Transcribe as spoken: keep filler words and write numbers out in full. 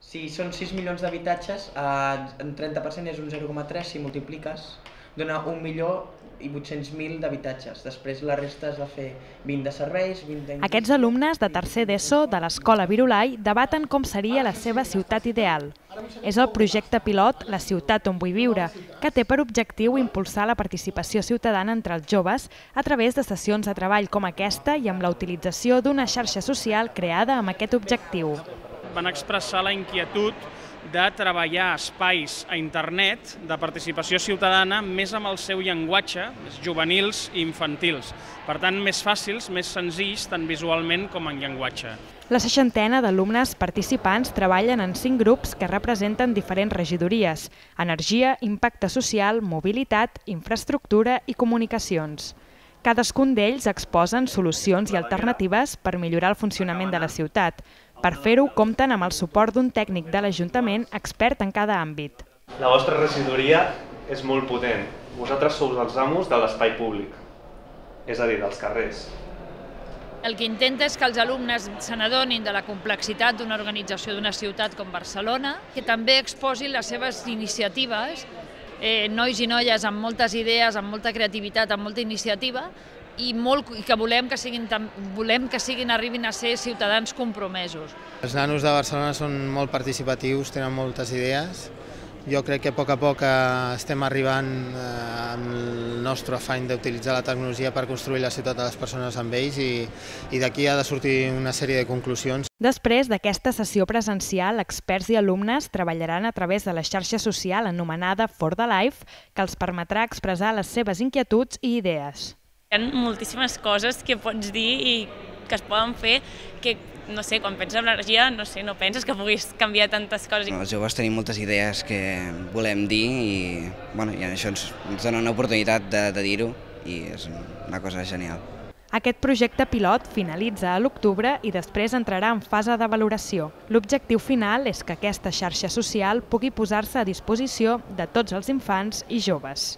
Si són sis milions d'habitatges, un trenta per cent és un zero coma tres, si multipliques, dona un milió i vuit-cents mil d'habitatges. Després la resta es va fer vint de serveis, vint d'indústria... Aquests alumnes de tercer d'ESO de l'Escola Virolai debaten com seria la seva ciutat ideal. És el projecte pilot La ciutat on vull viure, que té per objectiu impulsar la participació ciutadana entre els joves a través de sessions de treball com aquesta i amb la utilització d'una xarxa social creada amb aquest objectiu. Van expressar la inquietud de treballar espais a internet de participació ciutadana més amb el seu llenguatge, més juvenils i infantils. Per tant, més fàcils, més senzills, tant visualment com en llenguatge. La seixantena d'alumnes participants treballen en cinc grups que representen diferents regidories: energia, impacte social, mobilitat, infraestructura i comunicacions. Cadascun d'ells exposen solucions i alternatives per millorar el funcionament de la ciutat. Per fer-ho, compten amb el suport d'un tècnic de l'Ajuntament expert en cada àmbit. La vostra regidoria és molt potent. Vosaltres sou els amos de l'espai públic, és a dir, dels carrers. El que intenta és que els alumnes se n'adonin de la complexitat d'una organització d'una ciutat com Barcelona, que també exposin les seves iniciatives, eh, nois i noies amb moltes idees, amb molta creativitat, amb molta iniciativa, i, molt, i que volem que siguin, volem que siguin, arribin a ser ciutadans compromesos. Els nanos de Barcelona són molt participatius, tenen moltes idees. Jo crec que a poc a poc estem arribant amb el nostre afany d'utilitzar la tecnologia per construir la ciutat de les persones amb ells i, i d'aquí ha de sortir una sèrie de conclusions. Després d'aquesta sessió presencial, experts i alumnes treballaran a través de la xarxa social anomenada For the Life, que els permetrà expressar les seves inquietuds i idees. Hi ha moltíssimes coses que pots dir i que es poden fer que, no sé, quan penses en l'energia, no sé, no penses que puguis canviar tantes coses. Els joves tenim moltes idees que volem dir i, bueno, i això ens, ens dona una oportunitat de, de dir-ho i és una cosa genial. Aquest projecte pilot finalitza a l'octubre i després entrarà en fase de valoració. L'objectiu final és que aquesta xarxa social pugui posar-se a disposició de tots els infants i joves.